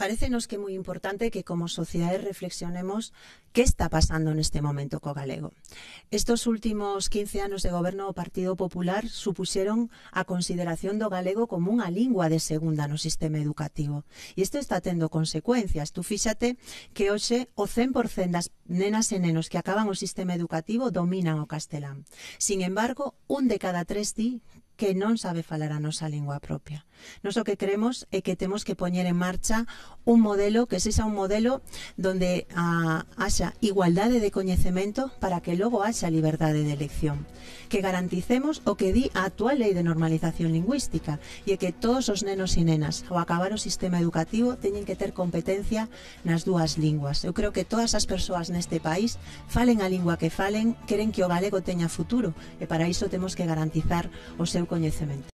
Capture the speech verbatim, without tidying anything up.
Parécenos que é moi importante que como sociedade reflexionemos que está pasando neste momento co galego. Estos últimos quince anos de goberno do Partido Popular supuxeron a consideración do galego como unha lingua de segunda no sistema educativo. E isto está tendo consecuencias. Tú fíxate que hoxe o cen por cen das nenas e nenos que acaban o sistema educativo dominan o castelán. Sin embargo, un de cada tres di que non sabe falar a nosa lingua propia. Nos o que creemos é que temos que poñer en marcha un modelo que sexa un modelo donde a, haxa igualdade de coñecemento para que logo haxa liberdade de elección. Que garanticemos o que di a actual lei de normalización lingüística e é que todos os nenos e nenas ao acabar o sistema educativo teñen que ter competencia nas dúas linguas. Eu creo que todas as persoas neste país, falen a lingua que falen, queren que o galego teña futuro e para iso temos que garantizar o seu coñecemento.